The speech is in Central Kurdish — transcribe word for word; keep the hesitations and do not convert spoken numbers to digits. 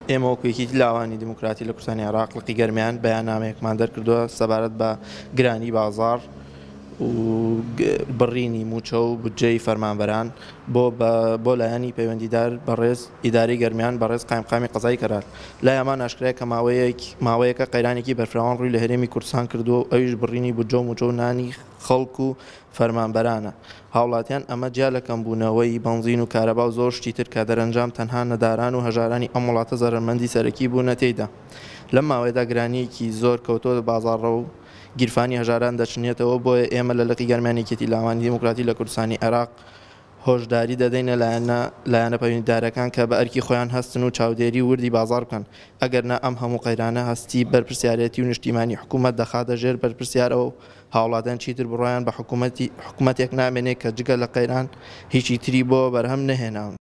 ئێمە وەکو یەکێتی لاوانی دیموکراتی لە کوردستانی عێراق لقی گەرمیان بەیاننامەیەکمان دەرکردووە سەبارەت بە گرانی بازاڕ و بڕینی مووچە و بودجەی فەرمانبەران بۆ بۆ لایەنی پەیوەندیدار بەڕێز ئیدارەی گەرمیان بەڕێز قایمقامی قەزای کەرار لای ئەمان ئاشکرایە کە ماوەیەک ماوەیەکە قەیرانێکی بەرفراوان ڕووی لە هەرێمی کوردستان کردووە و ئەویش بڕینی بودجە و مووچە و نانی خەڵک و فەرمانبەرانە هاوڵاتیان ئەمە جیا لە کەمبوونەوەی بەنزین و کارەبا و زۆر شتی تر کە دەرەنجام تەنها نەداران و هەژارانی ئەم وڵاتە زەرەرمەندی سەرەکی بوونە تێیدا لەم ماوەیەدا گرانییەکی زۆر کەوتۆتە بازاڕ و گیرفانی هەژاران دەچنێتەوە بۆیە ئێمە لە لقی گەرمیان یەکێتی لاوانی دیموکراتی لە کوردستانی عێراق هۆشداری دەدەینە لایەنە لایەنە پەیوەندیدارەکان کە بە ئەرکی خۆیان هەستن و چاودێری وردی بازاڕ بکەن ئەگەرنا ئەم هەموو قەیرانە هەستی بەرپرسیارێتی و نیشتیمانی حکومەت دەخاتە ژێر بەرپرسیارەوە و هاوڵاتیان چیتر بڕوایان بە حکومەتی حکومەتێک نامێنێ کە جگە لە قەیران هیچی تری بۆ بەرهەم نەهێناون.